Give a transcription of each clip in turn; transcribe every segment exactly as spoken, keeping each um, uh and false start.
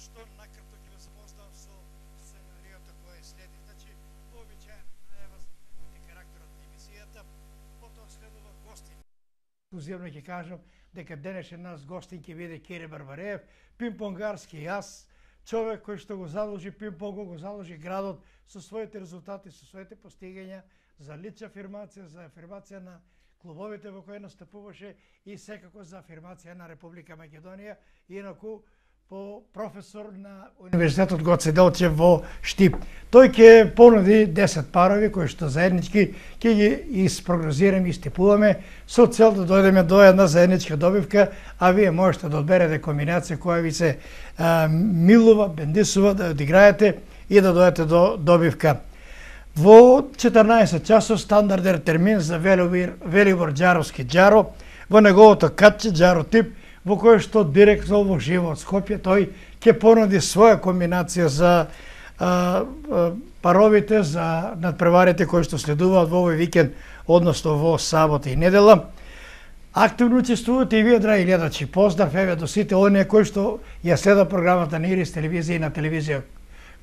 што накратко ќе ве запознам со сценариото кое следи. Значи, вообичаена најава за карактерот на емисијата, потоа следува гостин. Ексклузивно ќе кажам дека денешен нас гостин ќе биде Кире Барбареев, пинг-понгарски јас, човек кој што го заложи пинг-понгот, го заложи градот со своите резултати, со своите постигања за лична афирмација, за афирмација на клубовите во кои настапуваше и секако за афирмација на Република Македонија, инаку по професор на Универзитетот Гоце Делчев во Штип. Тој ќе понуди десет парови кои што заеднички ќе ги isпрогнозираме и стипуваме со цел да дојдеме до една заедничка добивка, а вие можете да одберете комбинација која ви се а, милува, бендисува, да одиграете и да дојдете до добивка. Во четрнаесет часов стандарден термин за Велибор, Велибор Џаровски Џаро, во неговото катче Џаро тип, во кој што директно во живо од Скопје тој ќе понуди своја комбинација за а, а, паровите, за надпреварите кои што следуваат во овој викенд, односно во сабота и недела. Активно учествувате и вие, драги гледачи. Поздрав еве до сите оние кои што ја следат програмата на Ирис телевизија и на телевизија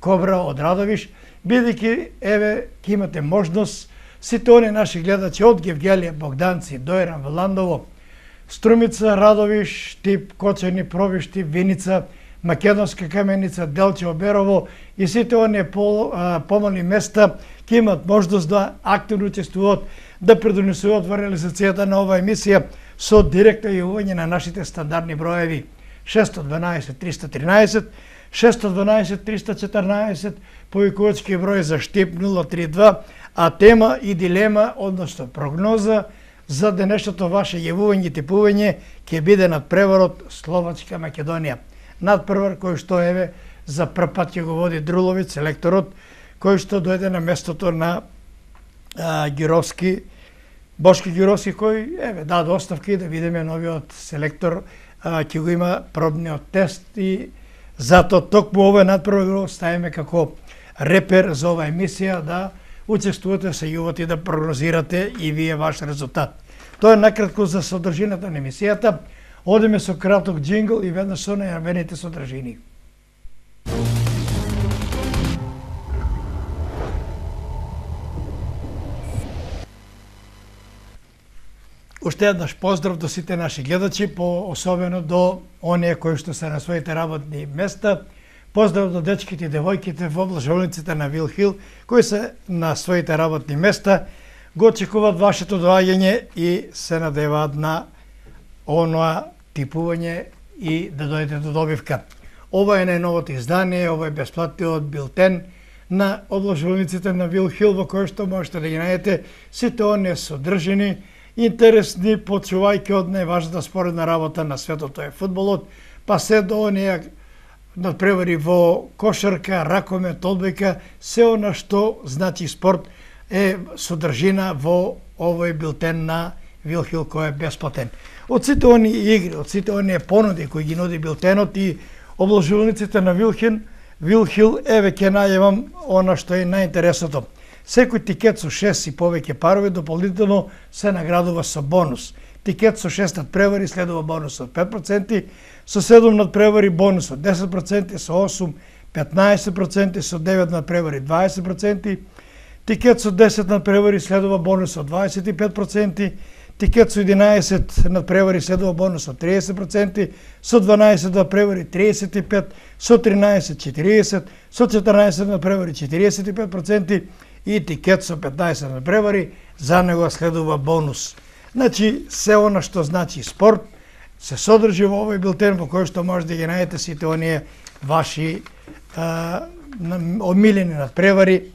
Кобра од Радовиш, бидејќи еве ќе имате можност сите оние наши гледачи од Гевгелија, Богданци, Дојран, Вландово, Струмица, Радовиш, Штип, Кочани, Пробишти, Виница, Македонска Каменица, Делчево, Берово и сите оние пол, а, помални места ќе имат можност да активно учествуваат, да придонесуваат во реализацијата на оваа емисија со директно јавување на нашите стандардни броеви шест дванаесет триста тринаесет, шест дванаесет триста четрнаесет, повикувачки број за Штип нула три два, а тема и дилема, односно прогноза за денешното ваше јавување и типување ќе биде надпреварот Словачка Македонија. Надпревар кој што еве за прв пат ќе го води Друловиц, селекторот, кој што дојде на местото на а, Гировски, Бошки Гировски, кој еве даде оставка и да видиме новиот селектор, а, ќе го има пробниот тест и затоа токму овој надпревар го ставиме како репер за оваа емисија да учествувате, се јувате и да прогнозирате и вие ваш резултат. Тоа е накратко за содржината на емисијата. Одиме со краток джингл и веднаш со најавените содржини. Уште еднаш поздрав до сите наши гледачи, по особено до оние кои што се на своите работни места. Поздрав до дечките и девојките во облажувниците на Вил Хил, кои се на своите работни места, го очекуваат вашето доаѓање и се надеваат на оноа типување и да дојдете до добивка. Ова е најновото издание, ова е бесплатниот билтен на облажувниците на Вил Хил, во кој што можете да ги најдете сите оние содржини, интересни, почувајќи од најважната споредна работа на светот, тоа е фудбалот, па се до оние надпревари во кошарка, ракомет, одбојка, се она што значи спорт е содржина во овој билтен на Вил Хил кој е бесплатен. Од сите оние игри, од сите оние понуди кои ги нуди билтенот и облажувниците на Вил Хил, Вил Хил, еве ќе најавам она што е најинтересното. Секој тикет со шест и повеќе парови дополнително се наградува со бонус. Тикет со шест надпревари следува бонус од пет проценти, со седум надпревари бонус од десет проценти, со осум петнаесет проценти, со девет надпревари дваесет проценти, тикет со десет надпревари следува бонус од дваесет и пет проценти, тикет со единаесет надпревари следува бонус од триесет проценти, со дванаесет надпревари триесет и пет, со тринаесет четириесет, со четрнаесет надпревари четириесет и пет проценти и тикет со петнаесет надпревари, за него следува бонус. Значи, се она што значи спорт, се содржи во овој билтен во кој што може да ги најдете сите оние ваши а, омилени надпревари,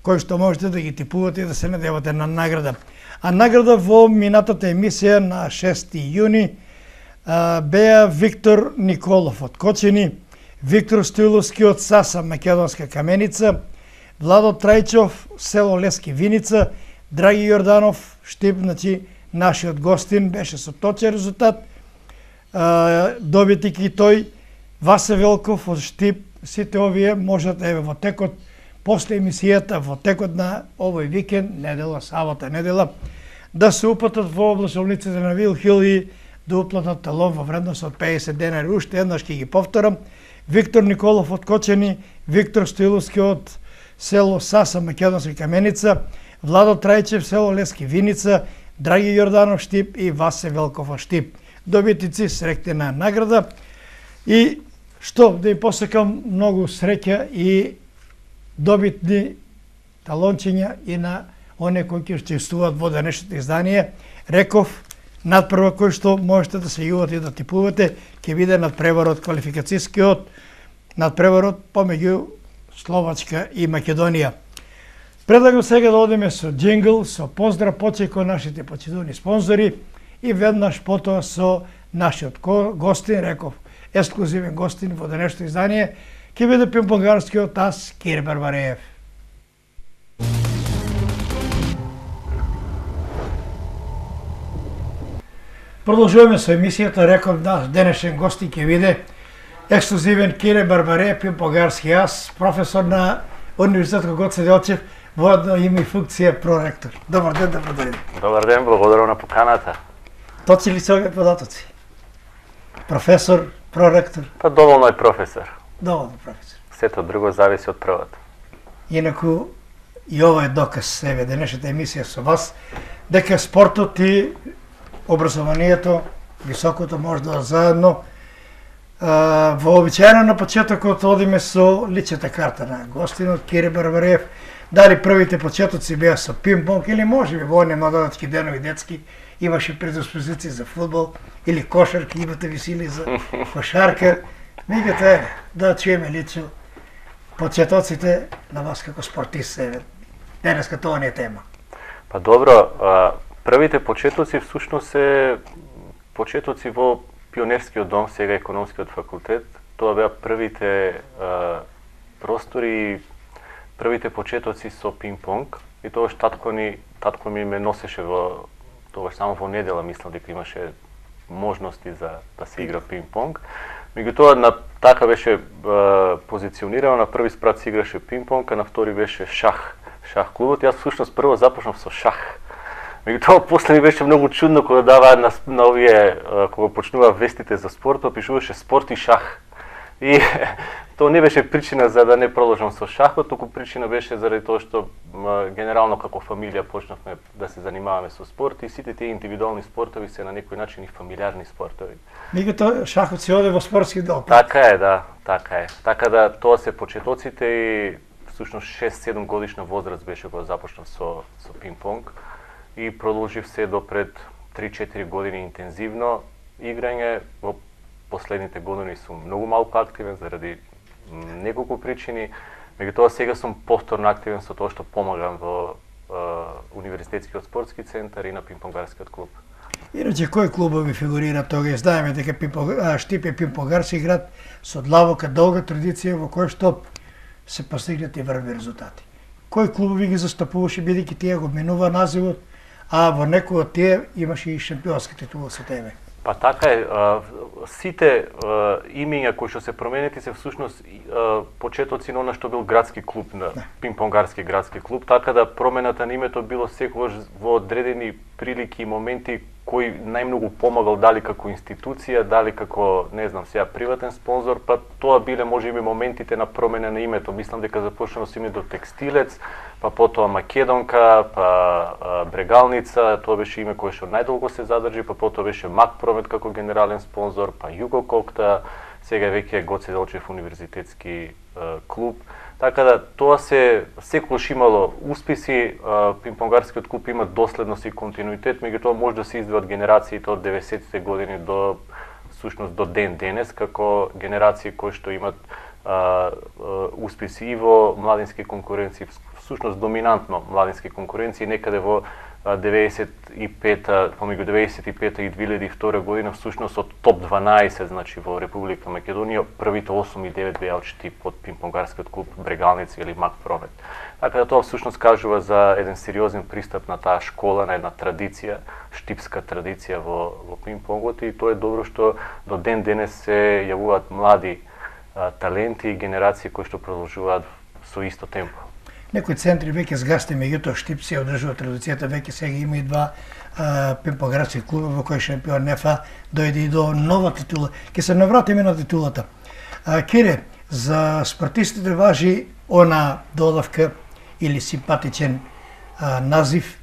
кои што можете да ги типувате и да се надевате на награда. А награда во минатата емисија на шести јуни а, беа Виктор Николов од Кочини, Виктор Стоиловски од Саса, Македонска Каменица, Владо Трајчов, село Лески Виница, Драги Јорданов, Штип, значи нашиот гостин беше со точен резултат, добитник и тој, Васе Велков од Штип, сите овие можат еве во текот после емисијата, во текот на овој викенд, недела, сабота, недела, да се упатат во облажувниците на Вил Хил и да уплатат талон во вредност од педесет денари. Уште еднаш ќе ги повторам, Виктор Николов од Кочани, Виктор Стоиловски од село Саса, Македонска Каменица, Владо Трајчев, село Лески Виница, Драги Јорданов Штип и Васе Велков од Штип. Добитници среќна награда и што да им посекам многу среќа и добитни талончиња и на оние кои ќе учествуваат во денешното издание. Реков, надпревар кој што можете да се јувате и да типувате, ќе биде надпреварот квалификацискиот, надпреварот помеѓу Словачка и Македонија. Предлагам сега да одиме со джингл, со поздрав почек кон нашите почитувани спонзори и веднаш потоа со нашиот гостин, Реков, ексклузивен гостин во денешното издание, ќе биде пинг-понгарскиот ас Кире Барбареев. Продолжуваме со емисијата, Реков, наш денешен гостин ќе биде ексклузивен Кире Барбареев, пинг-понгарски ас, професор на Универзитетот Гоце Делчев, во едно име и функција проректор. Добар ден, добро дојде. Добар ден, благодарам на поканата. Точи ли се овие податоци? Професор, проректор? Па доволно е професор. Доволно професор. Сето друго зависи од првото. Инаку и ова е доказ себе денешната емисија со вас дека спортот и образованието, високото може да заедно. Uh, вообичаено на почетокот одиме со личната карта на гостинот Кире Барбареев. Дали првите почетоци беа со пинг-понг или може би во оние младодачки денови детски имаше предиспозиции за фудбал или кошарка, имате ви сили за кошарка. Меѓутоа е да чуеме лично почетоците на вас како спортист себе. Денеска тоа не е тема. Па добро, првите почетоци всушност се почетоци во Пионерскиот дом, сега економскиот факултет. Тоа беа првите а, простори, првите почетоци со пинг-понг. И тогаш татко ни, татко ми ме носеше во тогаш само во недела, мислам дека имаше можности за да се игра пинг-понг. Меѓутоа на така беше а, позиционирано, на први спрат се играше пинг-понг, а на втори беше шах, шах клубот. Јас всушност прво започнав со шах. Меѓутоа после ми беше многу чудно кога даваа на, на овие, кога почнува вестите за спорт, пишуваше спорт и шах. И тоа не беше причина за да не продолжам со шахот, туку причина беше заради тоа што генерално како фамилија почнавме да се занимаваме со спорт и сите тие индивидуални спортови се на некој начин и фамилиарни спортови. Меѓутоа шахот се оде во спортски дел. Така е, да, така е. Така да тоа се почетоците и всушност шест-седум годишна возраст беше кога започнав со со пинг-понг. И продолжив се до пред три-четири години интензивно играње. Во последните години сум многу малку активен заради неколку причини. Меѓутоа сега сум повторно активен со тоа што помагам во е, Универзитетскиот спортски центар и на пинг-понгарскиот клуб. Иначе кои клубови фигурираат тога? Знаеме дека Штип е пинг-понгарски град со длабока долга традиција во кој што се постигнати врвни резултати. Кои клубови ги застапуваше бидејќи тие го менува називот, а во некои од тие имаше и шампионски титула со тебе? Па така е, сите имиња кои што се променети се всушност почетоци на она што бил градски клуб, на пинг-понгарски градски клуб, така да промената на името било секогаш во одредени прилики и моменти кој најмногу помагал, дали како институција, дали како, не знам, сега приватен спонзор, па тоа биле можеби моментите на промена на името. Мислам дека започнало со името Текстилец, па потоа Македонка, па а, Брегалница, тоа беше име кое што најдолго се задржи, па потоа беше Макпромет како генерален спонзор, па Југококта, сега веќе Гоце Делчев универзитетски а, клуб. Така да тоа се секогаш имало успеси, пинг-понгарскиот клуб има доследност и континуитет, меѓутоа може да се издвојат генерациите од деветдесетите години до всушност до ден денес како генерации кои што имат а, а, успеси и во младински конкуренции, всушност доминантно младински конкуренции, некаде во деветдесет и пета, помеѓу деветдесет и пета и две илјади и втора година, всушност од топ дванаесет, значи во Република Македонија, првите осум и девет беа од под пинг-понгарскиот клуб Брегалница или Макпромет. Така да тоа всушност кажува за еден сериозен пристап на таа школа, на една традиција, штипска традиција во, во пинг-понгот, и тоа е добро што до ден денес се јавуваат млади а, таленти и генерации кои што продолжуваат со исто темпо. Некои центри веќе сгасти, меѓутоа Штип се одржува традицијата, веќе сега има и два пинг-понгарски клуба во кои шампион НФА дојде и до нова титула. Ќе се навратиме на титулата. А, Кире, за спортистите важи она додавка или симпатичен а, назив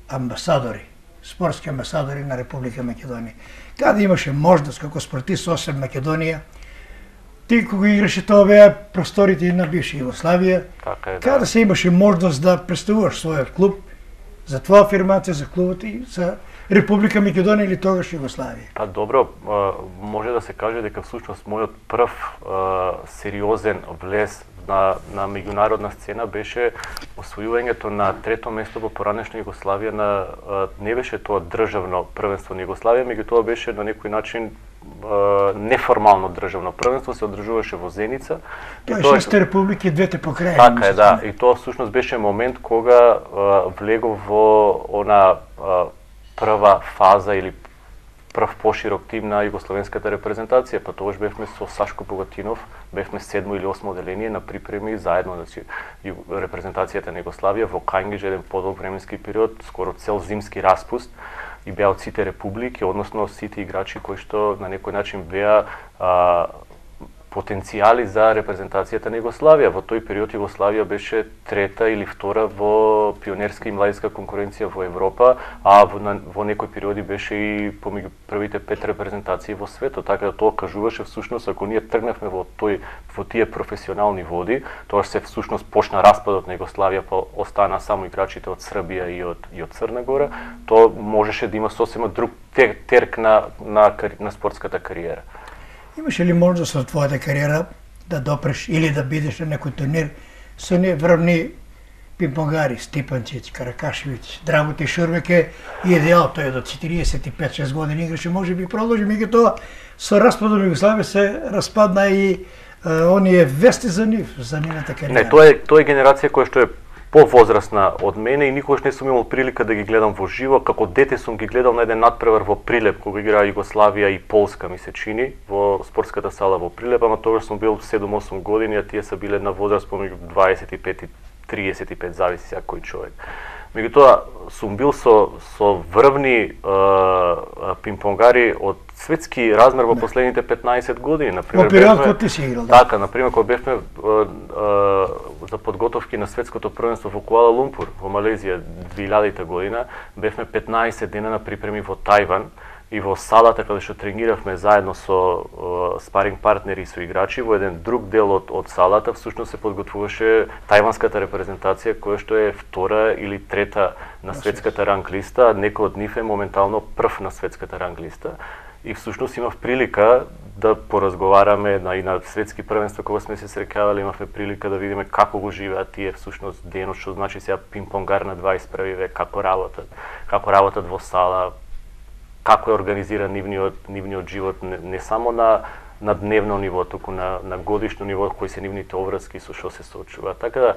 амбасадори, спортски амбасадори на Република Македонија. Каде имаше можност како спортист осем Македонија, ти кога играше тоа беа просторите на бивша Југославија, така е, да. Каде се имаше можност да представуваш својот клуб, за твоја афирмација за клубот и за Република Македонија или тогаш Југославија? Па добро, може да се каже дека всушност мојот прв сериозен влез на, на меѓународна сцена беше освојувањето на трето место во поранешна Југославија на не беше тоа државно првенство на Југославија, меѓутоа беше на некој начин неформално државно првенство, се одржуваше во Зеница. Тоа е шесте републики, двете покрајни. Така е, да. И тоа всушност беше момент кога влегов во она прва фаза или прв поширок тим на југословенската репрезентација, па тогаш бевме со Сашко Богатинов, бевме седмо или осмо одделение на припреми заедно, значи репрезентацијата на Југославија во Кајнгидж еден подолг временски период, скоро цел зимски распуст, и беа од сите републики, односно сите играчи кои што на некој начин беа а, потенцијали за репрезентацијата на Југославија. Во тој период Југославија беше трета или втора во пионерска и младинска конкуренција во Европа, а во, на, во некои периоди беше и помеѓу првите пет репрезентации во светот, така да тоа кажуваше всушност ако ние тргнавме во тој во тие професионални води, тоа се всушност почна распадот на Југославија, па остана само играчите од Србија и од и од Црна Гора, тоа можеше да има сосема друг терк на на, на спортската кариера. Имаше ли можност во твојата кариера да допреш или да бидеш на некој турнир со не врвни пинпонгари, Стипанчиć, Каракашевиć, Драготи Шурбек е идеал, тој до четириесет и пет шест години играше, може би продолжи, меѓутоа со распадот на Југославија се распадна и е, оние вести за нив, за нивната кариера. Не, тоа е тоа е генерација која што е повозрасна од мене и никогаш не сум имал прилика да ги гледам во живо. Како дете сум ги гледал на еден надпревар во Прилеп кога играа Југославија и Полска, ми се чини, во спортската сала во Прилеп, ама тогаш сум бил седум-осум години, а тие се биле на возраст помеѓу дваесет и пет и триесет и пет, зависи секој човек. Меѓутоа сум бил со со врвни е, пинпонгари од светски размер во последните петнаесет години, на пример. Во период кога ти си играл, да. Така, на пример кога бевме е, е, за подготовки на светското првенство во Куала Лумпур, во Малезија, две илјадета година, бевме петнаесет дена на припреми во Тајван и во салата каде што трениравме заедно со е, спаринг партнери и со играчи, во еден друг дел од, од салата всушност се подготвуваше тајванската репрезентација која што е втора или трета на светската ранг листа, некој од нив е моментално прв на светската ранг листа. И всушност имав прилика да поразговараме на и на светски првенства кога сме се среќавале, имавме прилика да видиме како го живеат тие всушност денот, што значи сега пинпонгар на дваесет и први век, како работат, како работат во сала, како е организиран нивниот нивниот живот не, не само на на дневно ниво, туку на на годишно ниво, кои се нивните обврски со што се соочува. Така да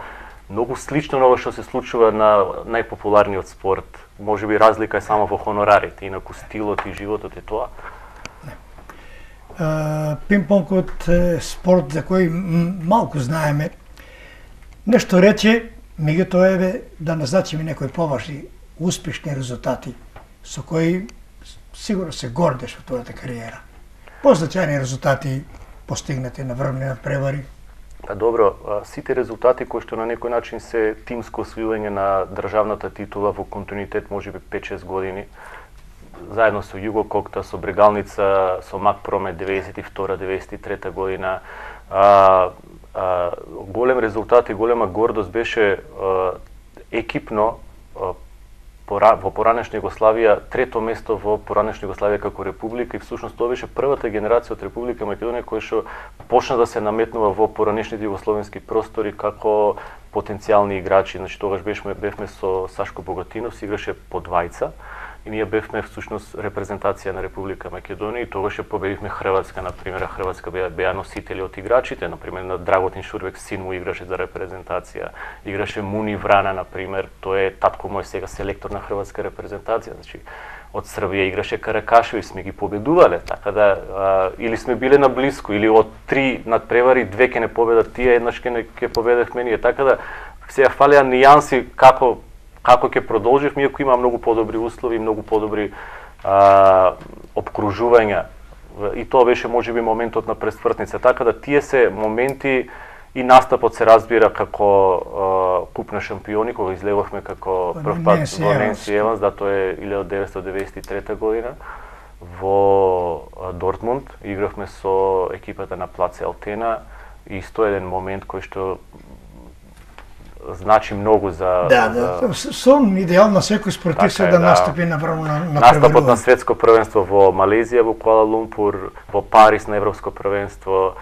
многу слично на ова што се случува на најпопуларниот спорт. Можеби разлика е само во хонорарите, инаку стилот и животот е тоа. Uh, пинг-понгот е спорт за кој малку знаеме. Нешто рече, меѓутоа еве да назначиме некои поважни, успешни резултати со кои сигурно се гордеш во твојата кариера. Позначајни резултати постигнати на врвни надпревари. Па добро, сите резултати кои што на некој начин се тимско освојување на државната титула во континуитет можеби пет-шест години, заедно со Југококта, со Брегалница, со Макпромет деветдесет и втора деветдесет и трета година. А, а, голем резултат и голема гордост беше а, екипно а, пора, во поранешна Југославија, трето место во поранешна Југославија како република и всушност тоа беше првата генерација од Република Македонија која што почна да се наметнува во поранешните југословенски простори како потенцијални играчи. Значи тогаш бевме бевме со Сашко Богатинов, се играше по двајца. И ние бевме всушност репрезентација на Република Македонија и тогаш ја победивме Хрватска, на пример, Хрватска беа, беа носители од играчите, на пример на Драготин Шурбек, син му играше за репрезентација, играше Муни Врана, на пример, тој е татко мој сега селектор на Хрватска репрезентација, значи од Србија играше Каракашевиć, сме ги победувале, така да а, или сме биле на блиску, или од три надпревари две ќе не победат тие, еднаш ќе не ќе победевме ние, така да сега фалеа нијанси како како ќе продолживме, иако има многу подобри услови, многу подобри а, обкружувања и тоа беше можеби моментот на пресвртница, така да тие се моменти и настапот се разбира како uh, куп на шампиони, кога излеговме како прв пат во Ненси Еванс, да тоа е илјада деветстотини деветдесет и трета година, во Дортмунд, игравме со екипата на Плаце Алтена, и исто еден момент кој што значи многу за... Да, да, за... сон идеално секој спортист така е, да, да настапи на врвно на, на настапот на светско првенство во Малезија, во Куала Лумпур, во Париз на европско првенство,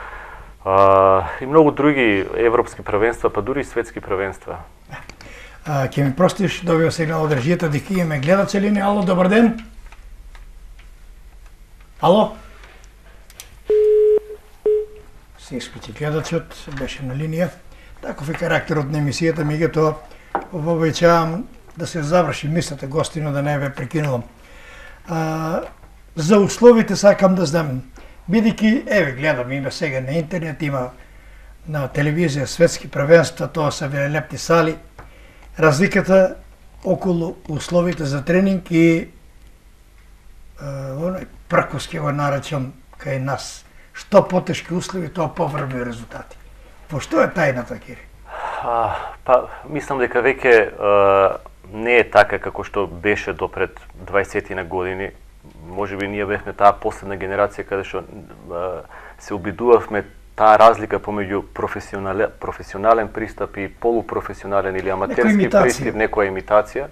а, и многу други европски првенства, па дури и светски првенства. А, ќе ми простиш, добива сигнал од режијата дека имаме гледачи линија. Ало, добар ден. Ало? Се исклучи гледачот, беше на линија. Таков е карактерот на емисијата, меѓутоа обичавам да се заврши мислата гостино, да не ве прекинувам. А, за условите сакам да знам, бидејќи еве гледам, има сега на интернет, има на телевизија светски првенства, тоа се велелепни сали. Разликата околу условите за тренинг и оној пркос ќе го наречам кај нас. Што потешки услови, тоа поврвни резултати. Во што е тајната, Кири? А, па, мислам дека веќе а, не е така како што беше до пред дваесет на години. Можеби ние бевме таа последна генерација каде што а, се обидувавме таа разлика помеѓу професионален, професионален пристап и полупрофесионален или аматерски пристап, некоја имитација,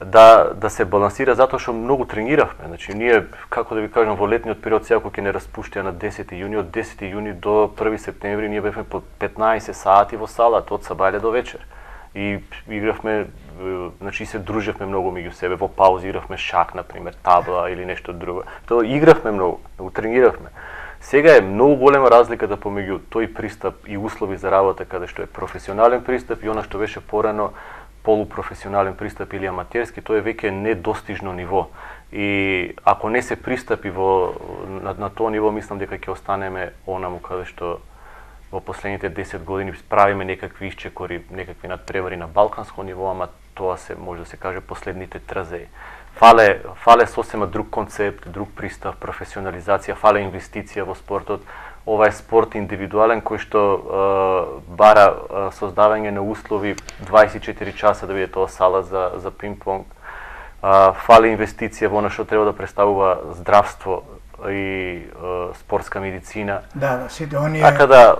да да се балансира, затоа што многу трениравме. Значи ние, како да ви кажам, во летниот период сега кога ќе не распуштија на десети јуни, од десети јуни до први септември ние бевме по петнаесет сати во салата од сабајле до вечер. И игравме, значи се дружевме многу меѓу себе, во паузи игравме шак, на пример, табла или нешто друго. Тоа игравме многу, многу трениравме. Сега е многу голема разликата помеѓу тој пристап и услови за работа каде што е професионален пристап и она што беше порано полупрофесионален пристап или аматерски, тоа е веќе недостижно ниво. И ако не се пристапи во на, на тоа ниво, мислам дека ќе останеме онаму каде што во последните десет години правиме некакви исчекори, некакви надпревари на балканско ниво, ама тоа се може да се каже последните трзеи. Фале фале сосема друг концепт, друг пристап, професионализација, фале инвестиција во спортот. Ова е спорт индивидуален кој што е, бара е, создавање на услови дваесет и четири часа да биде тоа сала за за пинг-понг. Фали инвестиција во она што треба да представува здравство и е, спортска медицина. Да, да, сите оние. Така да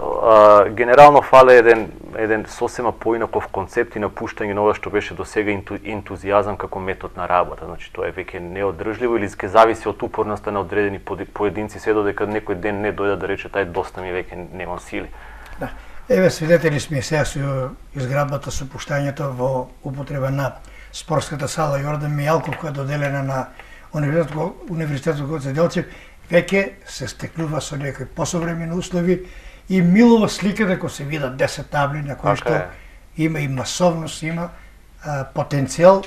е, генерално фале еден еден сосема поинаков концепт и напуштање на ова што беше досега инту, ентузијазам како метод на работа. Значи тоа е веќе неодржливо или ќе зависи од упорноста на одредени поединци, се додека некој ден не дојде да рече тај доста ми веќе немам сили. Да. Еве свидетели сме сега со изградбата со пуштањето во употреба на спортската сала Јордан Мијалков, која е доделена на Универзитетот Универзитетот Гоце Делчев, веќе се стекнува со некои посовремени услови и милува слика дека се видат десет табли на кои што има и масовност, има а, потенцијал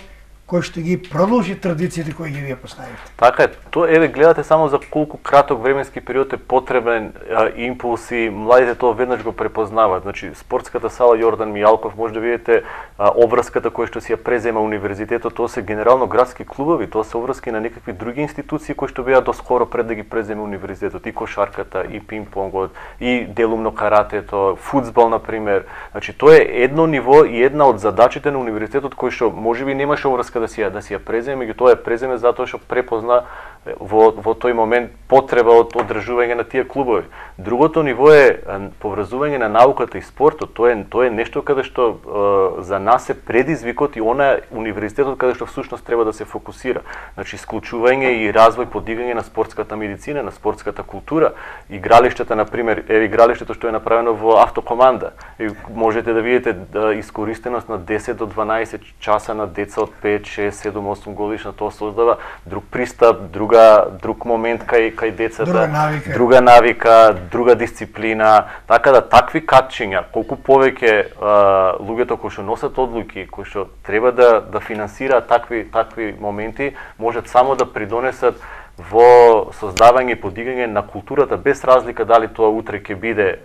кој што ги продолжи традициите кои ги вие поставите. Така е, тоа еве гледате само за колку краток временски период е потребен а, импулс и младите тоа веднаш го препознаваат. Значи спортската сала Јордан Мијалков, може да видите а, обврската која што си ја презема универзитетот, тоа се генерално градски клубови, тоа се обврски на некакви други институции кои што беа доскоро пред да ги преземе универзитетот, и кошарката, и пинг-понгот, и делумно каратето, фудбал на пример. Значи тоа е едно ниво и една од задачите на универзитетот кој што можеби немаше обврска да си ја да си ја преземе, меѓутоа ја преземе затоа што препозна во во тој момент потреба од одржување на тие клубови. Другото ниво е поврзување на науката и спортот. Тоа е тоа е нешто каде што е, за нас е предизвикот и она универзитетот каде што всушност треба да се фокусира. Значи исклучување и развој, подигање на спортската медицина, на спортската култура, игралиштата на пример, е игралиштето што е направено во автокоманда. И можете да видите да, искористеност на десет до дванаесет часа на деца од пет, шест, седум, осум годишна, тоа создава друг пристап, друга друг момент кај кај децата, друга навика, друга, навика, друга дисциплина, така да такви катчиња, колку повеќе луѓето кои што носат одлуки, кои што треба да да финансираат такви такви моменти, можат само да придонесат во создавање и подигање на културата, без разлика дали тоа утре ќе биде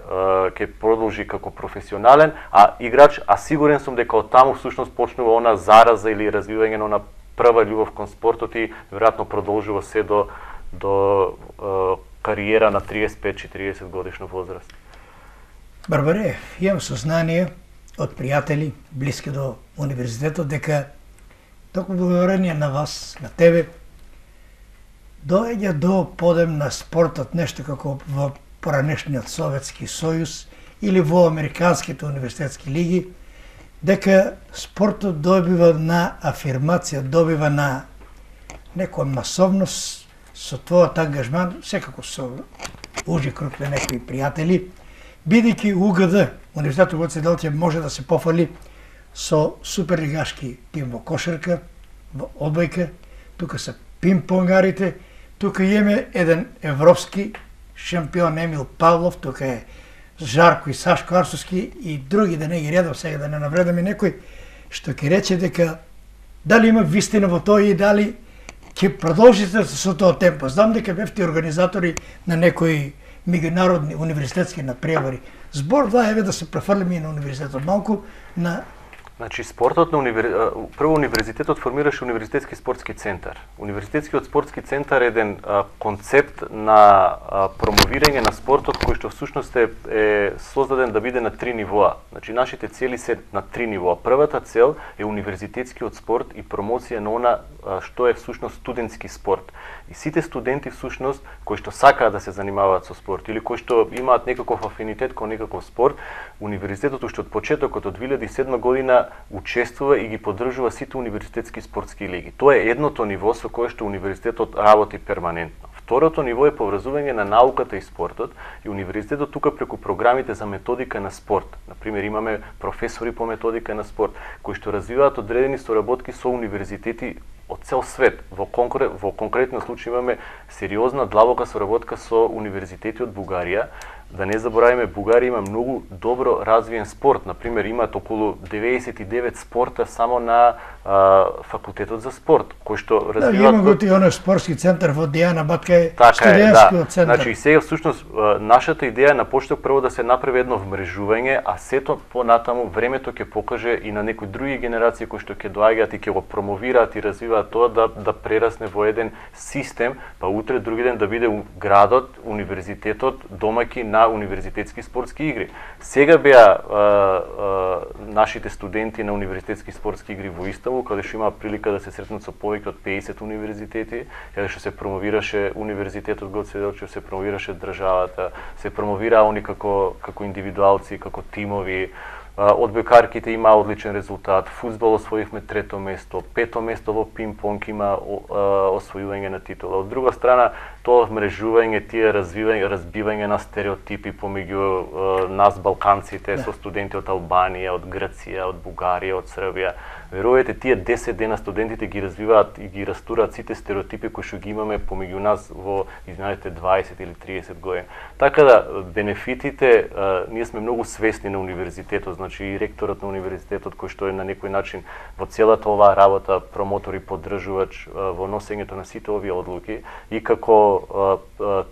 ќе продолжи како професионален, а играч, а сигурен сум дека од таму всушност почнува она зараза или развивање на она прва љубов кон спортот и веројатно продолжува се до до кариера на триесет пет четириесет годишна возраст? Барбаре, имам сознание од пријатели блиски до универзитетот дека токму благодарение на вас, на тебе, доаѓа до подем на спортот нешто како во поранешниот Советски сојуз или во американските универзитетски лиги, дека спортот добива на афирмација, добива на некоја масовност со твојот ангажман, секако со ужи круг на некои пријатели, бидејќи УГД, Универзитетот Гоце Делчев, може да се пофали со суперлигашки тим во кошарка, во одбојка, тука се пинг-понгарите, тука имаме еден европски шампион Емил Павлов, тука е Жарко и Сашко Арсовски и други, да не ги редам сега, да не навредаме некој, што ќе рече дека дали има вистина во тоа и дали ќе продолжите со тоа темпо. Знам дека бевте организатори на некои меѓународни универзитетски надпревари. Збор два еве да се префрлиме и на универзитетот малку на. Значи спортот на универ... прво универзитетот формираше универзитетски спортски центар. Универзитетскиот спортски центар е еден а, концепт на а, промовирање на спортот кој што всушност е, е создаден да биде на три нивоа. Значи нашите цели се на три нивоа. Првата цел е универзитетскиот спорт и промоција на она а, што е всушност студентски спорт. И сите студенти всушност кои што сакаат да се занимаваат со спорт или кои што имаат некаков афинитет кон некаков спорт, универзитетот уште од почетокот од две илјади и седма година учествува и ги поддржува сите универзитетски спортски лиги. Тоа е едното ниво со кое што универзитетот работи перманентно. Второто ниво е поврзување на науката и спортот и универзитетот тука преку програмите за методика на спорт. Например, имаме професори по методика на спорт кои што развиваат одредени соработки со универзитети од цел свет. Во, конкрет, во конкретно случај имаме сериозна длабока соработка со универзитети од Бугарија. Да не забораваме, Бугарија има многу добро развиен спорт. Например, имаат околу деветдесет и девет спорта само на а, факултетот за спорт, кој што развиваат. Да, има го ти оној спортски центар во Дијана Батка е така студентскиот е, да. центар. Значи сега всушност нашата идеја на почеток прво да се направи едно вмрежување, а сето понатаму времето ќе покаже и на некои други генерации кои што ќе доаѓаат и ќе го промовираат и развиваат тоа да да прерасне во еден систем, па утре други ден да биде градот, универзитетот домаќин на универзитетски спортски игри. Сега беа а, а, нашите студенти на универзитетски спортски игри во Истанбул, каде што имаа прилика да се сретнат со повеќе од педесет универзитети, каде што се промовираше универзитетот Гоце Делчев, се промовираше државата, се промовираа они како како индивидуалци, како тимови. Одбојкарките има одличен резултат, фудбал освоивме трето место, пето место во пинг-понг има освојување на титула. Од друга страна, тоа вмрежување, тие развивање, разбивање на стереотипи помеѓу нас балканците со студенти од Албанија, од Грција, од Бугарија, од Србија. Верувајте, тие десет дена студентите ги развиваат и ги растураат сите стереотипи кои што ги имаме помеѓу нас во изминатите дваесет или триесет години. Така да бенефитите, ние сме многу свесни на универзитетот, значи и ректорот на универзитетот кој што е на некој начин во целата оваа работа промотор и поддржувач во носењето на сите овие одлуки и како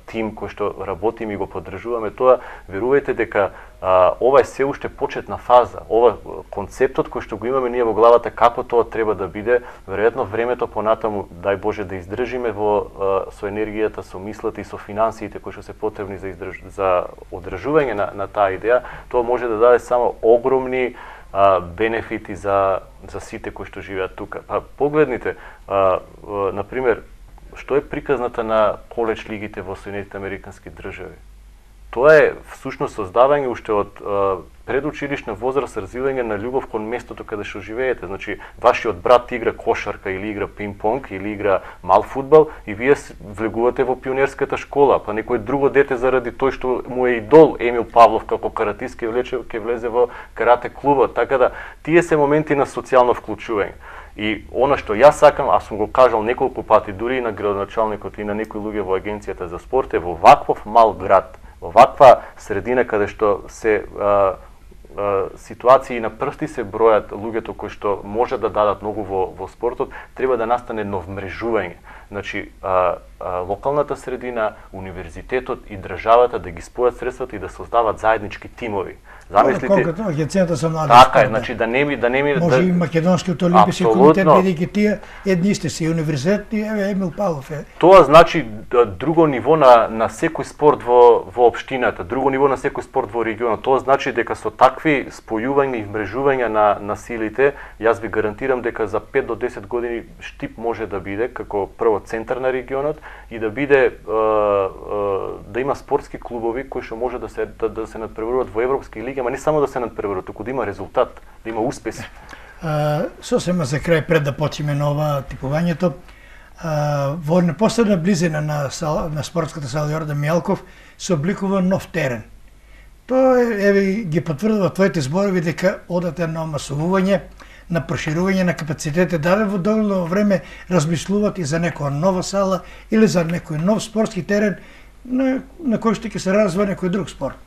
тим кој што работиме и го поддржуваме тоа, верувајте дека Uh, ова е се уште почетна фаза. Ова концептот кој што го имаме ние во главата како тоа треба да биде, веројатно времето понатаму, дај Боже да издржиме во uh, со енергијата, со мислата и со финансиите кои што се потребни за издрж... за одржување на, на таа идеја, тоа може да даде само огромни uh, бенефити за за сите кои што живеат тука. Па погледнете, uh, uh, на пример, што е приказната на коледж лигите во Соединетите Американски држави? Тоа е всушност создавање уште од uh, предучилишна возраст, развивање на љубов кон местото каде што живеете. Значи, вашиот брат игра кошарка или игра пинг-понг или игра мал фудбал и вие влегувате во пионерската школа, па некој друго дете заради тој што му е идол Емил Павлов како каратист ќе влече ќе влезе во карате клубот. Така да тие се моменти на социјално вклучување. И она што јас сакам, а сум го кажал неколку пати дури и на градоначалникот и на некои луѓе во агенцијата за спорт, е во ваков мал град, во ваква средина каде што се а, а, ситуации на прсти се бројат луѓето кои што може да дадат многу во, во спортот, треба да настане едно вмрежување. Значи, а, а, локалната средина, универзитетот и државата да ги спојат средствата и да создават заеднички тимови. Замислите, колкото агенцијата со млади така спорт, е, значи да не ми да не ми може да... и македонскиот олимписки комитет, бидејќи тие едни сте си универзитет и еве Емил Павлов е. Тоа значи друго ниво на на секој спорт во во општината, друго ниво на секој спорт во регионот. Тоа значи дека со такви спојувања и вмрежувања на на силите, јас ви гарантирам дека за пет до десет години Штип може да биде како прво центар на регионот и да биде е, е, да има спортски клубови кои што може да се да, да се надпреваруваат во европски лиги, ама не само да се надпреваруваат, туку да има резултат, да има успеси. А, сосема за крај пред да почнеме на ова типувањето, а, во непосредна близина на сал, на спортската сала Јордан Мијалков се обликува нов терен. Тоа еве ги потврдува твоите зборови дека одате на масовување, на проширување на капацитете, дали во доволно време размислуват и за некоја нова сала или за некој нов спортски терен на, на кој што ќе се развива некој друг спорт?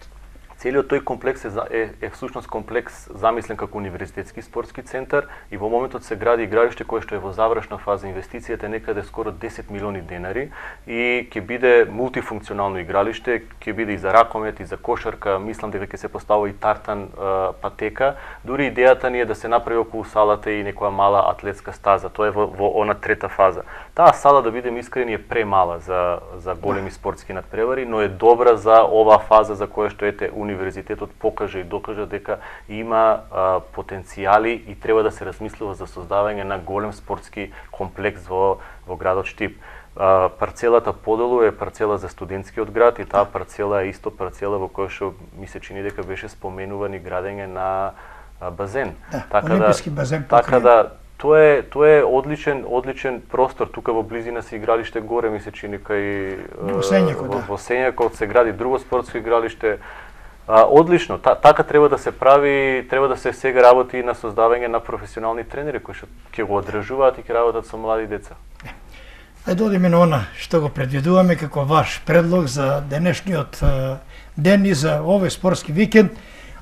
Целиот тој комплекс е, е, е всушност комплекс замислен како универзитетски спортски центар и во моментот се гради игралиште кое што е во завршна фаза. Инвестицијата е некаде скоро десет милиони денари и ќе биде мултифункционално игралиште, ќе биде и за ракомет, и за кошарка, мислам дека ќе се постави и тартан а, патека. Дури идејата ни е да се направи околу салата и некоја мала атлетска стаза. Тоа е во, во она трета фаза. Таа сала, да бидем искрени, е премала за за големи спортски надпревари, но е добра за оваа фаза за која што ете универзитетот покажа и докажа дека има а, потенцијали и треба да се размислува за создавање на голем спортски комплекс во во градот Штип. А, парцелата поделу е парцела за студентскиот град и таа парцела е исто парцела во која што ми се чини дека беше споменуван и градење на а, базен. Да, така олимписки да, базен покрива. Така да тоа е тоа е одличен одличен простор тука во близина се игралиште горе ми се чини кај во Сењакот, во, да. во Сењакот се гради друго спортско игралиште. А, одлично, Та, така треба да се прави, треба да се сега работи и на создавање на професионални тренери кои што ќе го одржуваат и ќе работат со млади деца. Ајде да одиме на она што го предвидуваме како ваш предлог за денешниот ден и за овој спортски викенд.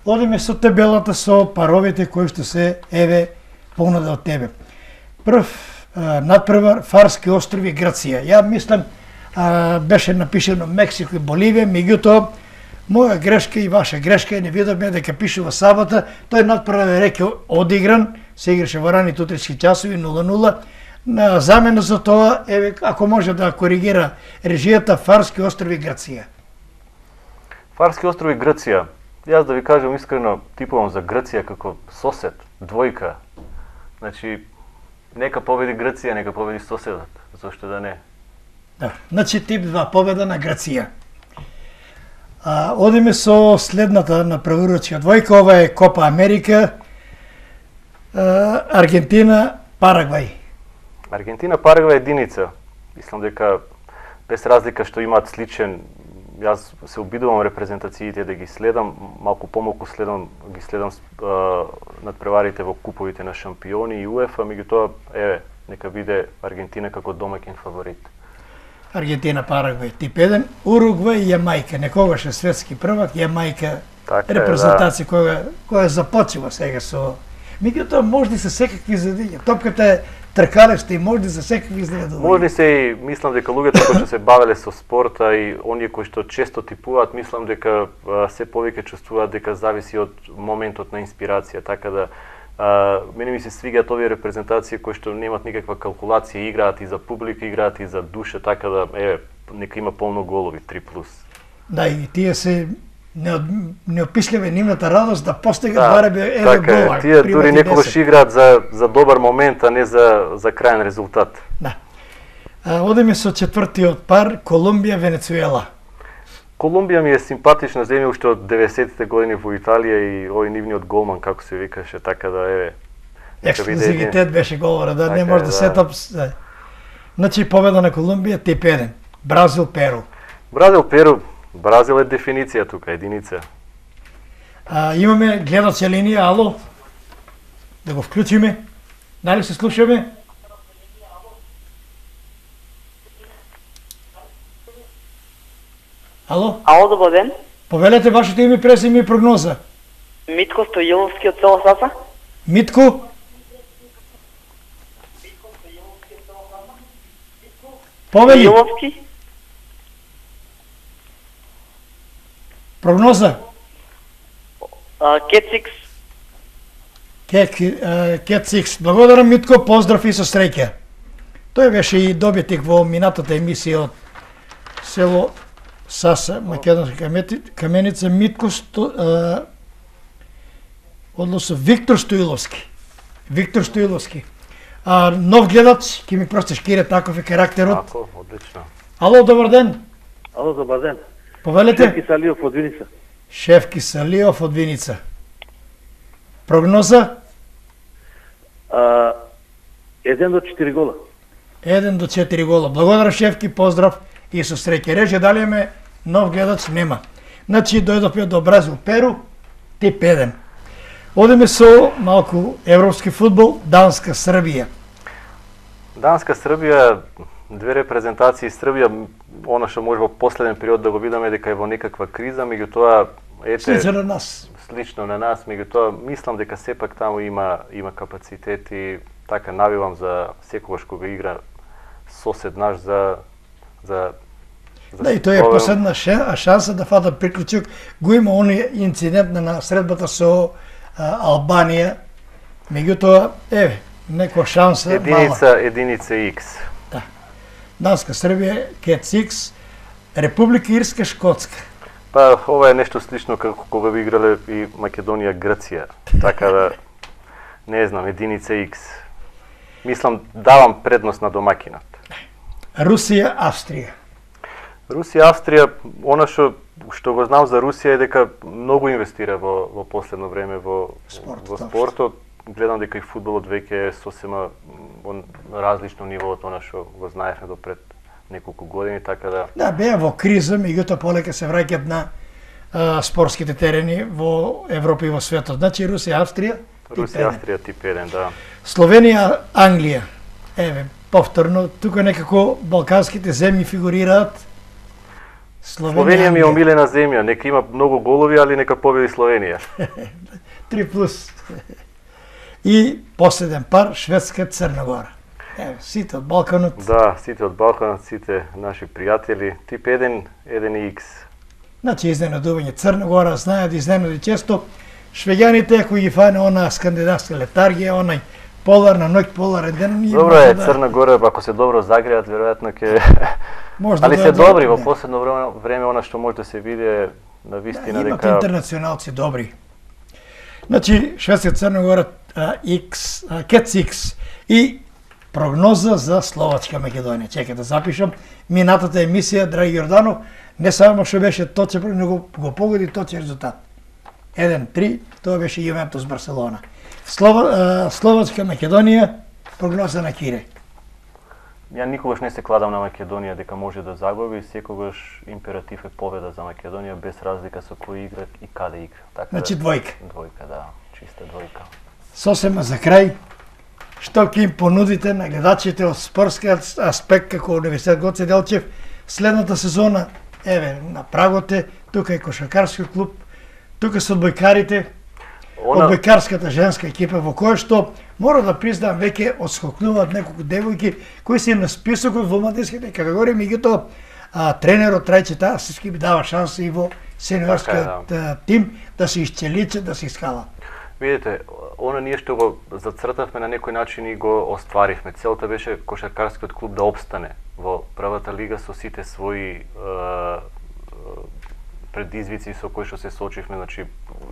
Одиме со табелата со паровите кои што се еве понуда од тебе. Прв надпревар Фарски острови Грција. Ја мислам а, беше напишено Мексико и Боливија, меѓутоа моја грешка и ваша грешка, не видовме дека пишува сабота, тој надпревар е реке одигран, се играше во раните утрински часови нула нула. На замена за тоа, еве, ако може да коригира режијата Фарски острови Грција. Фарски острови Грција. Јас да ви кажам искрено, типувам за Грција како сосед, двојка. Значи, нека победи Грција, нека победи соседот, зошто да не. Да, значи тип два победа на Грција. А, одиме со следната на преварувачка двојка, ова е Копа Америка, а, Аргентина, Парагвај. Аргентина, Парагвај единица. Мислам дека без разлика што имаат сличен, јас се обидувам репрезентациите да ги следам, малку помалку следам, ги следам а, надпреварите во куповите на шампиони и УЕФА, меѓутоа, еве, нека биде Аргентина како домаќин фаворит. Аргентина, Парагвај, тип еден, Уругвај и Јамајка, некогаш е светски првак, Јамајка, така репрезентација да. која, која започува сега со... Меѓутоа, можди се секакви задења. Топката е тркалешта и можди за секакви изненадувања. Можни се и, мислам дека луѓето кои што се бавеле со спорта и оние кои што често типуваат, мислам дека а, се повеќе чувствуваат дека зависи од моментот на инспирација, така да а, мене ми се свигаат овие репрезентации кои што немаат никаква калкулација, играат и за публика, играат и за душа, така да еве нека има полно голови, три плюс. Да, и тие се неопишливе нивната радост да постигнат да, барем еве така гола. Е, тие дури некогаш играат за за добар момент, а не за за крајен резултат. Да. А, одиме со четвртиот пар Колумбија Венецуела. Колумбија ми е симпатична земја уште од деветдесетите години во Италија и овој нивниот голман како се викаше, така да еве. Ексклузивитет беше говора, да, така не може да, да сетап. Да. Значи победа на Колумбија тип еден. Бразил Перу. Бразил Перу. Бразил е дефиниција тука, единица. А, имаме гледача линија, ало? Да го вклучиме? Дали се слушаме? Ало? Ало, добар ден. Повелете вашето име, презиме и прогноза. Митко Стоиловски од село Саса. Митко? Повели. Јоловски. Прогноза. Кетсикс. Кетсикс. Благодарам, Митко, поздрав и со среќа. Тој беше и добитник во минатата емисија од село Саса, Македонска Каменица, Митко, сто, односно Виктор Стоиловски. Виктор Стоиловски. А, нов гледач, ќе ми простиш, Кире, таков е карактерот. Тако, одлично. Ало, добар ден. Ало, добар ден. Повелете? Шеф Кисалиов од Виница. Шеф Кисалиов од Виница. Прогноза? А, еден до четири гола. еден до четири гола. Благодарам, Шефки, поздрав и со среќа. Рече, дали имаме нов гледач? Нема. Значи, дојдовме до Бразил Перу, тип еден. Одиме со малку европски фудбал, Данска Србија. Данска Србија, две репрезентации Србија, она што може во последен период да го видиме дека е во некаква криза, меѓутоа ете слично на нас. Слично на нас, меѓутоа мислам дека сепак таму има има капацитети, така навивам за секогаш кога игра сосед наш за за за Да, и тој е последна шанса да фата приклучок. Го има оној инцидент на средбата со а, Албанија. Меѓутоа, еве, некоја шанса единица, мала. единица X. Да. Данска Србија, Кетс Икс, Република Ирска, Шкотска. Па, ова е нешто слично како кога би играле и Македонија, Грција. Така да, не знам, единица X. Мислам, давам предност на домакинот. Русија, Австрија. Русија, Австрија, она што што го знам за Русија е дека многу инвестира во во последно време во Спорт, во точно. спортот. Гледам дека и фудбалот веќе е сосема во различно ниво од она што го знаевме до пред неколку години, така да Да, беа во криза, меѓутоа полека се враќаат на а, спортските терени во Европа и во светот. Значи Русија, Австрија, тип Русија, еден. Австрија тип еден, да. Словенија, Англија. Еве, повторно, тука некако балканските земји фигурираат. Словенија ми е Англија. омилена земја, нека има многу голови, али нека победи Словенија. три плюс. И последен пар, Шведска, Црна Гора. Еве, сите од Балканот. Да, сите од Балканот, сите наши пријатели, тип еден, еден X. Значи, изненадување. Црна Гора знаат да изненади често. Швеѓаните, ако ги фане она скандинавска летаргија, онај поларна ноќ, поларен ден, ние Добро може е, да- Црна Гора, ако се добро загреат, веројатно ќе може да али се дојдат- добри во да. последно време, време она што може да се види е на вистина Да, имат дека интернационалци добри. Значи, Шведска, Црна Гора, а, X, а, Кетс Икс и прогноза за Словачка Македонија. Чекај да запишам. Минатата емисија, драги Јорданов, не само што беше точен, него го погоди точен резултат. еден три, тоа беше Јувентус Барселона. Слова, а, Словачка Македонија, прогноза на Кире. ја никогаш не се кладам на Македонија дека може да загуби, секогаш императив е победа за Македонија без разлика со кој игра и каде игра. Така Значи да, двојка. двојка, да, чиста двојка. Сосема за крај, што ќе им понудите на гледачите од спортски аспект како Универзитет Гоце Делчев следната сезона? Еве, на прагот е, тука е кошаркарски клуб, тука се одбојкарите, Она одбојкарската женска екипа во која што мора да признам веќе отскокнуваат неколку девојки кои се на списокот во младинските категории, меѓутоа а, тренерот Трајче Тасовски би дава шанса и во сениорскиот Така тим да се исчеличат, да се искалат. видите, она ние што го зацртавме на некој начин и го остваривме. Целта беше кошаркарскиот клуб да опстане во првата лига со сите своји е, предизвици со кои што се соочивме, значи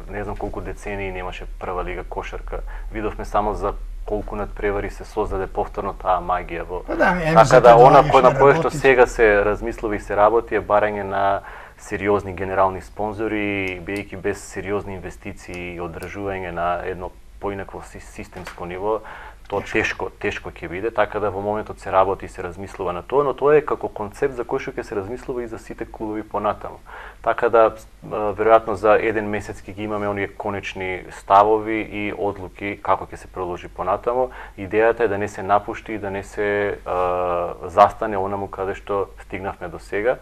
не знам колку децении немаше прва лига кошарка. Видовме само за колку надпревари се создаде повторно таа магија во. Па да, еми, Така за да тоа она што кој на кое што работи. сега се размислува и се работи е барање на сериозни генерални спонзори, бидејќи без сериозни инвестиции и одржување на едно поинакво си- системско ниво, тоа тешко, тешко ќе биде, така да во моментот се работи и се размислува на тоа, но тоа е како концепт за кој што ќе се размислува и за сите клубови понатаму. Така да а, веројатно за еден месец ќе ги имаме оние конечни ставови и одлуки како ќе се продолжи понатаму. Идејата е да не се напушти и да не се а, застане онаму каде што стигнавме до сега.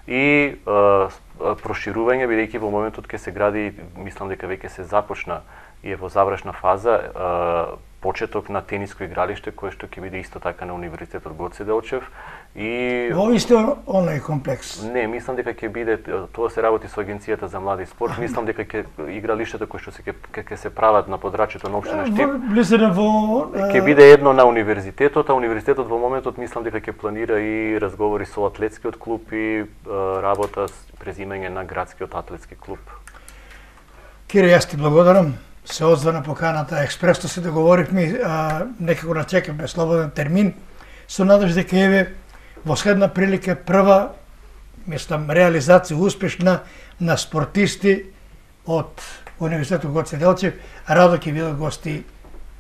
И а, проширување, бидејќи во моментот ќе се гради, мислам дека веќе се започна и е во завршна фаза почеток на тениско игралиште кое што ќе биде исто така на Универзитетот Гоце Делчев и во исто онлајн комплекс. Не, мислам дека ќе биде, тоа се работи со Агенцијата за млади спорт, мислам дека ќе игралиштата кои што се ќе ќе се прават на подрачјето на општина Штип. Близина во ќе биде едно на универзитетот, а универзитетот во моментот мислам дека ќе планира и разговори со атлетскиот клуб и работа презимање на градскиот атлетски клуб. Кире, јас ти благодарам. Се одзва на поканата, експресно се договоривме, а, некако начекаме слободен термин, со надеж дека еве во следна прилика прва, мислам, реализација успешна на спортисти од Универзитетот Гоце Делчев, радо ќе бидат гости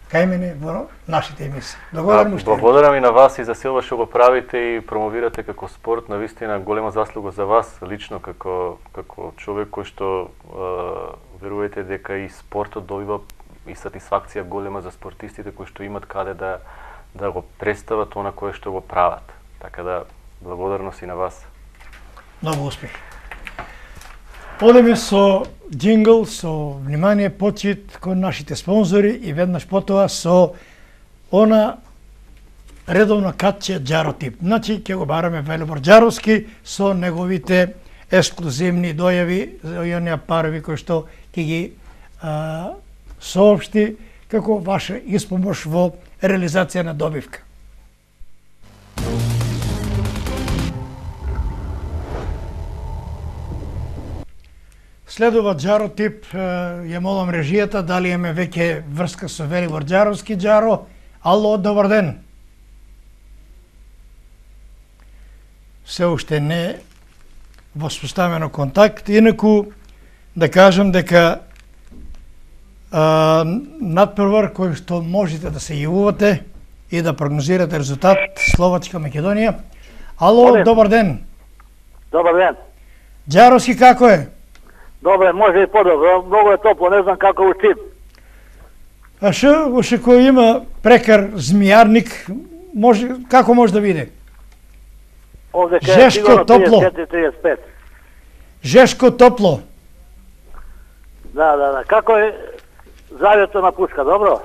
кај мене во нашите емисии. Благодарам уште. Благодарам и на вас и за силва што го правите и промовирате како спорт, навистина голема заслуга за вас лично како како човек кој што верувате дека и спортот добива и сатисфакција голема за спортистите кои што имат каде да да го представат она кое што го прават. Така да благодарност и на вас. Многу успех. Одеме со джингл, со внимание, почит кон нашите спонзори и веднаш потоа со она редовно катче Джаротип. Значи, ќе го бараме Велибор Джаровски со неговите ексклузивни дојави за оние парови кои што ќе ги а, соопшти како ваша испомош во реализација на добивка. Следува Джаротип, ја молам режијата, дали имаме веќе врска со Велибор Джаровски. Джаро, ало, добар ден. Се уште не воспоставено контакт, инаку да кажам дека а, надпревар кој што можете да се јавувате и да прогнозирате резултат Словачка Македонија. Ало, добар, добар ден. Добар ден. Джаровски како е? Добре, може и подобро, многу е топло, не знам како у Штип. А шо, уште кој има прекар змијарник, може, како може да биде? Овде ке Жешко топло. триесет четири триесет пет. Жешко топло. Да, да, да. Како е завето на пушка, добро?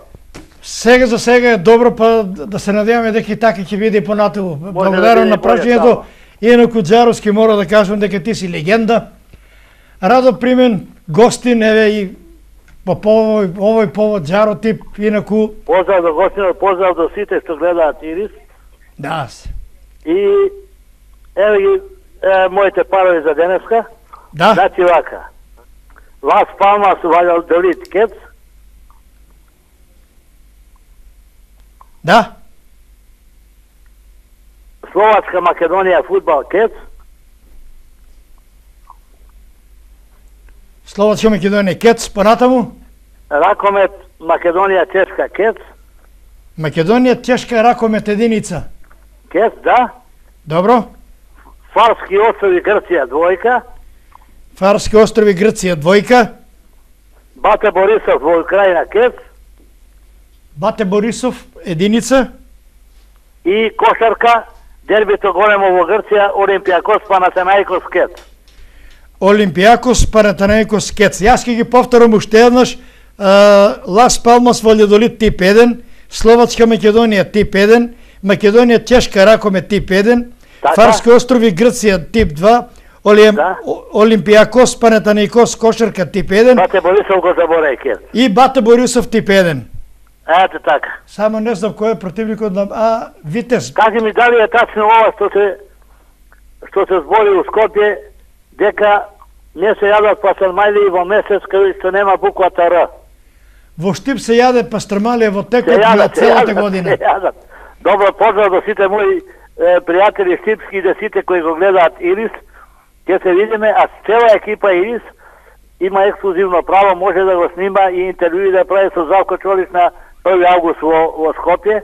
Сега за сега е добро, па да се надеваме дека и така ќе биде и понатаму. Благодарам на прашањето. Инаку Джаровски мора да кажам дека ти си легенда. Радо примен гостин, еве и по овој, овој повод Джаротип, инаку... Поздрав до гостинот, поздрав до сите што гледаат Ирис. Да. И еве ги е, моите парови за денеска. Да. Значи вака. Лас Палмас валјал Делит Кец. Да. Словачка Македонија фудбал Кец. Словачка Македонија Кец, понатаму? Ракомет Македонија Чешка Кец. Македонија Чешка ракомет единица. Кец, да. Добро. Фарски острови Грција двојка. Фарски острови Грција двојка. Бате Борисов во Украина Кец. Бате Борисов единица. И кошарка дербито големо во Грција Олимпијакос Панатенаикос Кец. Олимпијакос Панатенаикос Кец. Јас ќе ги повторам уште еднаш. Лас Палмас Валјадолид тип еден, Словачка Македонија тип еден, Македонија Чешка ракомет тип еден, така? Фарски острови Грција тип два, Олим... да? Олимпијакос Панатенаикос кошарка тип еден. Бате Борисов го заборај Кец. И Бате Борисов тип еден. Ете така. Само не знам кој е противникот на а Витез. Кажи ми дали е тачно ова што се што се збори у Скопје дека не се јадат пастрмали во месец кај што нема буквата Р. Во Штип се јаде пастрмалија во текот на целата година. Се јадат. Добро, поздрав до сите мои е, пријатели штипски и да сите кои го гледаат Ирис. Ќе се видиме, а цела екипа Ирис има ексклузивно право, може да го снима и интервјуи да прави со Завко Чолиш на први август во, во Скопје,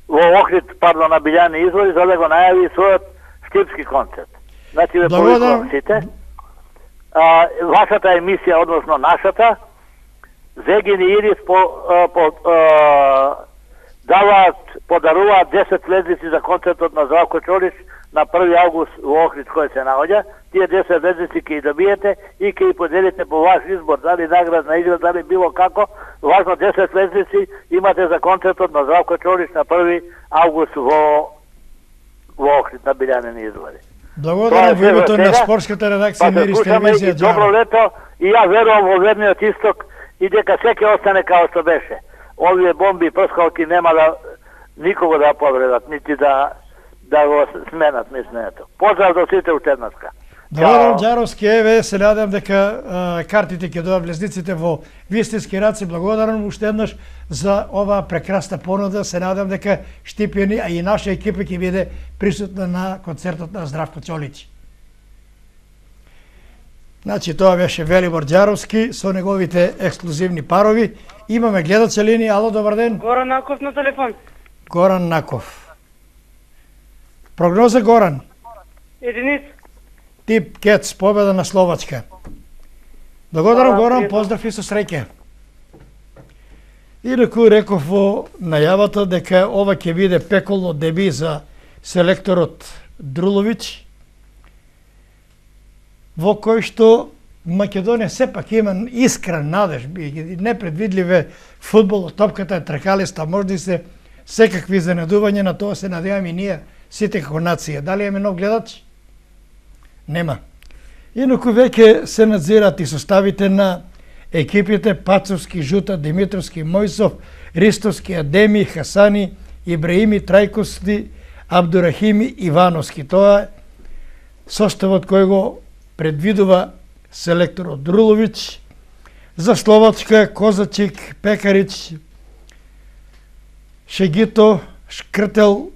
во Охрид, пардон, на Билјани извори, за да го најави својот штипски концерт. Значи, ве повикувам сите. А, вашата емисија, односно нашата, Зегин и Ирис по, а, по, а, даваат, подаруваат десет лезвици за концертот на Завко Чолиш на први август во Охрид кој се наоѓа, тие десет звездици ќе ги добиете и ќе ги поделите по ваш избор, дали наградна игра, дали било како. Важно десет звездици имате за концертот на Здравко Чолич на први август во во Охрид на Билјанени извори. Благодарам во името на спортската редакција на Ирис телевизија. Добро лето и ја верувам во верниот исток и дека секој остане како што беше. Овие бомби и прскалки нема да никого да повредат, нити да да го сменат мислењето. Поздрав до сите учебнатска. Благодарам Ѓаровски, еве се надам дека а, картите ќе дојдат влезниците во вистински раци. Благодарам уште еднаш за оваа прекрасна понуда. Се надам дека Штипјани, а и наша екипа ќе биде присутна на концертот на Здравко Чолич. Значи, тоа беше Велибор Ѓаровски со неговите ексклузивни парови. Имаме гледача линија. Ало, добар ден. Горан Наков на телефон. Горан Наков. Прогноза, Горан? Единица. Тип Кец, победа на Словачка. Благодарам, Горан, поздрав и со среќа. Инаку реков во најавата дека ова ќе биде пеколно деби за селекторот Друловиќ, во кој што Македонија сепак има искрен надеж, непредвидливе фудбал, топката е тркалиста, може да се секакви занедувања, на тоа се надеваме и ние сите како нација. Дали имаме нов гледач? Нема. Инаку веќе се надзират и составите на екипите Пацовски, Жута, Димитровски, Мојсов, Ристовски, Адеми, Хасани, Ибраими, Трајковски, Абдурахими, Ивановски. Тоа е составот кој го предвидува селекторот Друловиќ. За Словачка Козачик, Пекарич, Шегито, Шкртел,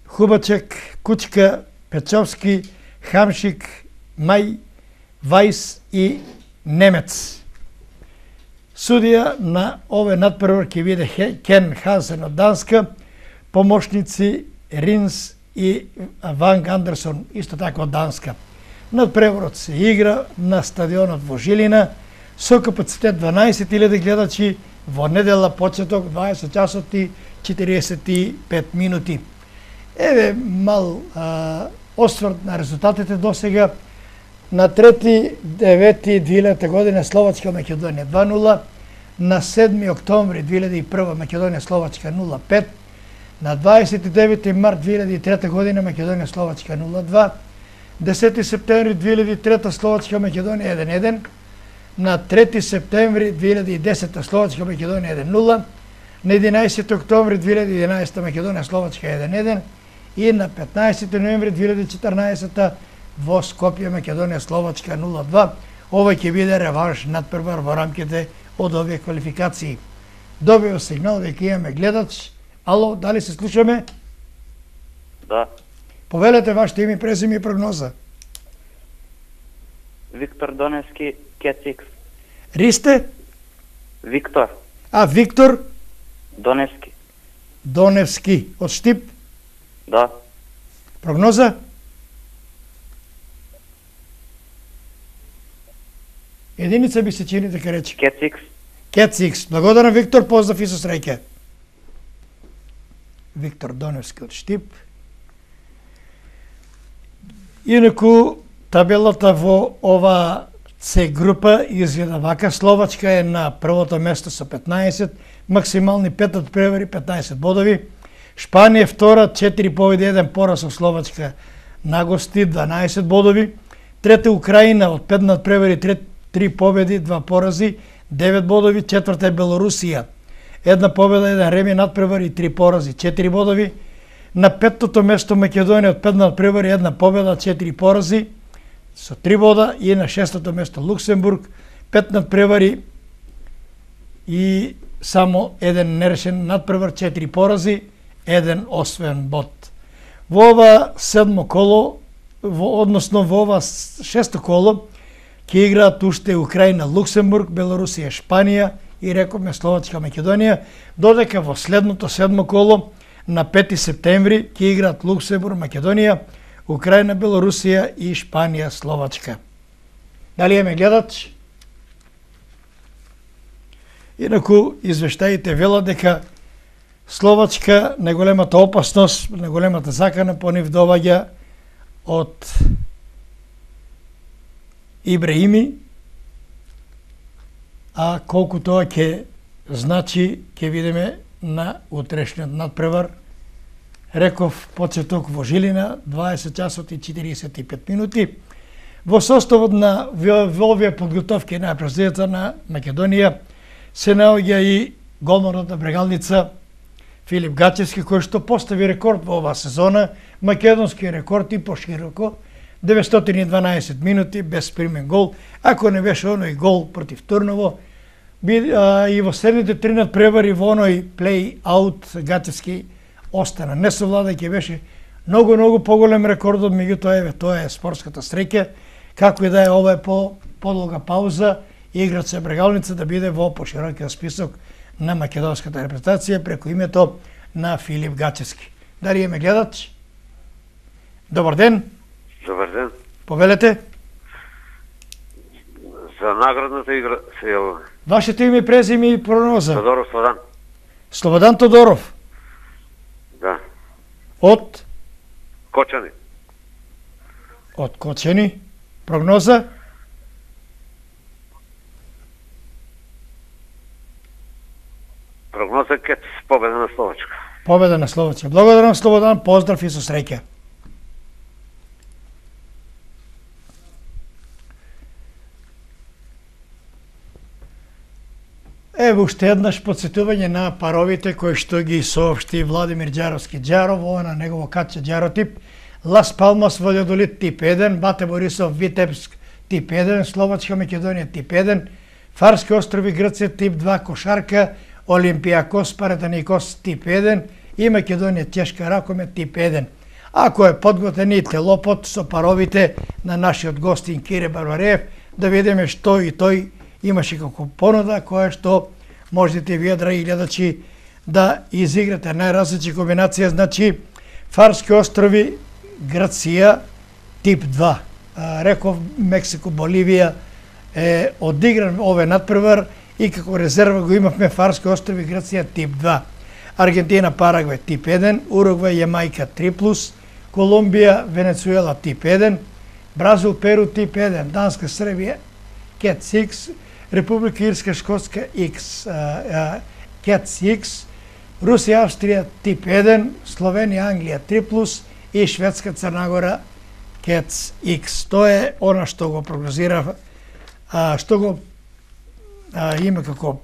Хубачек, Кучка, Печовски, Хамшик, Мај, Вајс и Немец. Судија на овој надпревар ќе биде Кен Хансен од Данска, помошници Ринс и Ванг Андерсон, исто така од Данска. Надпреварот се игра на стадионот во Жилина со капацитет дванаесет илјади гледачи во недела почеток дваесет часот и четириесет и пет минути. Еве мал а, осврт на резултатите до сега. На трети девети две илјадна година Словачка Македонија два нула, на седми октомври две илјади и прва Македонија Словачка нула пет, на дваесет и девети март две илјади и трета година Македонија Словачка нула два, десети септември две илјади и трета Словачка Македонија еден еден, на трети септември две илјади и десета Словачка Македонија еден нула, на единаесети октомври две илјади и единаесета Македонија Словачка еден еден и на петнаесети ноември две илјади и четрнаесета во Скопје Македонија Словачка нула два. Ова ќе биде реванш надпревар во рамките од овие квалификации. Добио сигнал дека имаме гледач. Ало, дали се слушаме? Да. Повелете вашето име, презиме и прогноза. Виктор Доневски, Кетикс. Ристе? Виктор. А, Виктор? Доневски. Доневски. Од Штип? Да. Прогноза? Единица би се чини дека рече. Кетикс. Кетикс. Благодарам, Виктор, поздрав и со среќа. Виктор Доневски од Штип. Инаку, табелата во ова С група изгледа вака. Словачка е на првото место со петнаесет, максимални пет надпревари, петнаесет бодови. Шпанија втора, четири победи, еден пораз со Словачка на гости, дванаесет бодови. Трета Украина од пет надпревари, три победи, два порази, девет бодови. Четврта е Белорусија, една победа, еден реми, надпревари, три порази, четири бодови. На петтото место Македонија од пет надпревари, една победа, четири порази, со три бода. И на шестото место Луксембург, пет надпревари и само еден нерешен надпревар, четири порази, еден освоен бод. Во ова седмо коло, во, односно во ова шесто коло, ќе играат уште Украина, Луксембург, Белорусија, Шпанија и рековме Словачка, Македонија, додека во следното седмо коло на пети септември ќе играат Луксембург, Македонија, Украина, Белорусија и Шпанија, Словачка. Дали имаме гледач? Инаку извештаите велат дека Словачка, најголемата опасност, најголемата закана по нив доаѓа од Ибраими, а колку тоа ќе значи, ќе видиме на утрешниот надпревар. Реков почеток во Жилина, дваесет часот и четиридесет и пет минути. Во составот на во овие подготовки на репрезентацијата на Македонија се наоѓа и голманот на Брегалница Филип Гачевски, кој што постави рекорд во оваа сезона, македонски рекорд и пошироко, деветстотини и дванаесет минути без примен гол. Ако не беше оној гол против Турново, би, а, и во следните три надпревари во оној плей-аут Гачевски остана несовладај, ќе беше многу, многу поголем рекордот, меѓутоа еве тоа е спортската среќа, како и да е, ова е по подолга пауза, играч се Брегалница да биде во поширокиот список на македонската репрезентација преку името на Филип Гачевски. Дали е ме гледач? Добар ден. Добар ден. Повелете. За наградната игра се јавуваме. Вашето име, презиме и прогноза? Тодоров Слободан. Слободан Тодоров. Да. Од? Кочани. Од Кочани. Прогноза? Прогноза ке победа на Словачка. Победа на Словачка. Благодарам, Слободан, поздрав и со среќа. Ево уште еднаш подсетување на паровите кои што ги соопшти Владимир Ѓаровски Ѓаров, ова на негово каче Ѓаротип. Лас Палмас Валјадолид тип еден, Бате Борисов Витебск тип еден, Словачка Македонија тип еден, Фарски острови Грција тип два, Кошарка Олимпијакос Паратаникос тип еден и Македонија Чешка Ракоме тип еден. Ако е подготвен и телопот со паровите на нашиот гостин Кире Барбареев, да видиме што и тој имаше како понуда, која што можете вие, драги гледачи, да изиграте најразлични комбинација. Значи, Фарски острови Грција тип два. Реков Мексико Боливија е одигран овој надпревар и како резерва го имавме Фарски острови Грција тип два. Аргентина Парагвај тип еден, Уругвај Јамајка три плюс, Колумбија Венецуела тип еден, Бразил Перу тип еден, Данска Србија Кет Икс, Република Ирска Шкотска X, Кет Икс, Русија Австрија тип еден, Словенија Англија три плюс и Шведска Црнагора Кет Икс. Тоа е она што го прогнозира, а, што го а, има како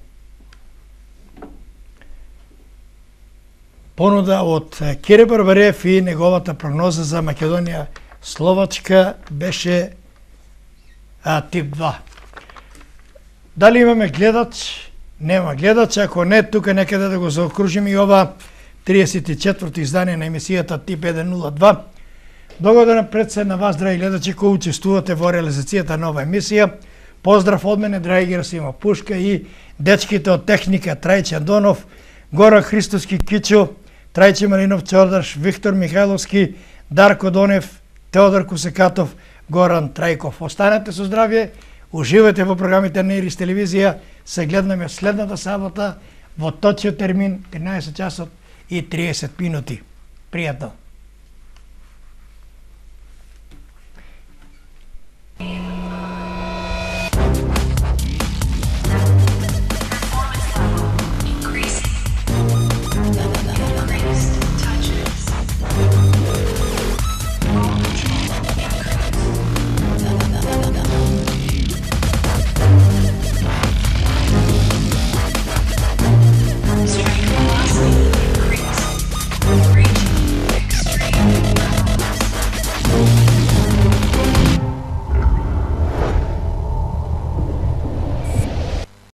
понуда од Кире Барбареев и неговата прогноза за Македонија Словачка беше а, тип два. Дали имаме гледач? Нема гледач. Ако не, тука некаде да го заокружиме и ова триесет и четврто издание на емисијата Тип еден нула два. Благодарам пред се на вас, драги гледачи, кои учествувате во реализацијата на ова емисија. Поздрав од мене, драги Герасимов Пушка и дечките од техника Трајче Андонов, Гора Христоски Кичо, Трајче Маринов Чордаш, Виктор Михайловски, Дарко Донев, Теодор Кусекатов, Горан Трајков. Останете со здравје, уживате во програмите на Ирис телевизија, се гледаме следната сабота во точниот термин тринаесет часот и триесет минути. Пријатно!